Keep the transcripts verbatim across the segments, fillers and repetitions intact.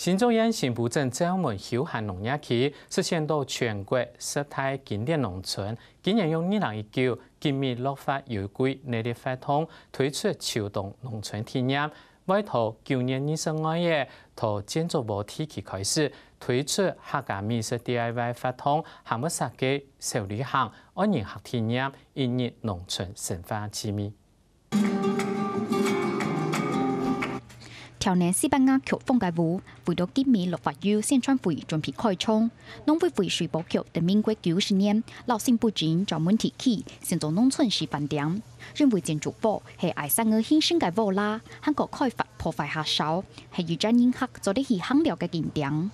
新竹縣新埔鎮詔門休閒農業區實現到全國十大經典農村，今年用二零一九吉米綠發優惠內力發動推出秋冬農村體驗，會在九月二十二日在建築屋地區開始推出客家美食D I Y活動，還會設計小旅行、愛人客體驗、一日農村生活趣味。 條內四百瓦曲風个屋，為到吉米綠發優宣傳會準備開唱。農委會水保局在民國九十年，摎新埔鎮詔門地區，先做農村示範點，認為建築屋係愛生活興盛个屋啦，還過開發破壞較少，係一站人客做得去行尞个景點。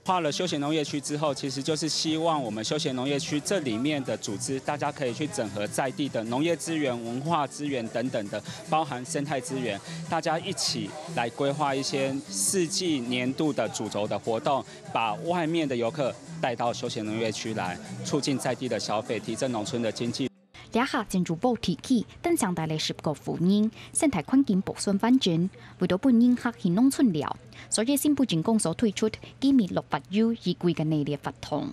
畫了休閒農業區之後，其實就是希望我們休閒農業區這裡面的組織，大家可以去整合在地的農業資源、文化資源等等的，包含生態資源，大家一起來規劃一些四季年度的主軸的活動，把外面的遊客帶到休閒農業區來，促進在地的消費，提振農村的經濟。 這下建築屋地區登場帶來十個婦人，生態環境保存完整，為到分人客去農村尞，所以新埔鎮公所推出吉米綠發優一季个內力活動。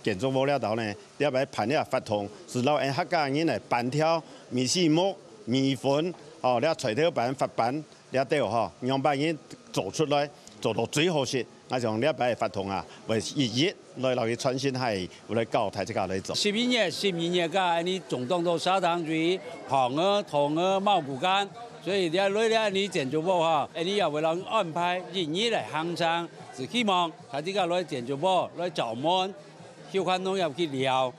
建築屋這兜呢，這擺辦這活動，係摎𠊎客家人來辦條米篩目、米粉，哦，這菜頭粄、發粄，這兜吼，仰般人做出來，做到最好食。 𠊎想這擺个活動啊，會一一來摎佢傳承下去，會來教大自家來做。十一月、十二月个，恁呢種種都燒糖水、糖仔、糖仔、茂谷柑，所以這來這恁呢建築屋哈，恁呢也會摎安排一日來行程，係希望大自家來建築屋來詔門，休閒農業去尞。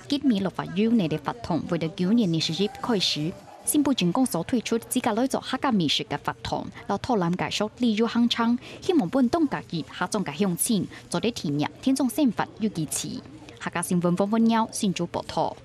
吉米綠發優內力活動會在九月二十一開始。新埔鎮公所推出自家來做客家美食个活動，摎導覽介紹旅遊行程，希望分當加入客庄个鄉親，做得體驗田莊生活有機趣。客家新聞黃文耀新竹報導。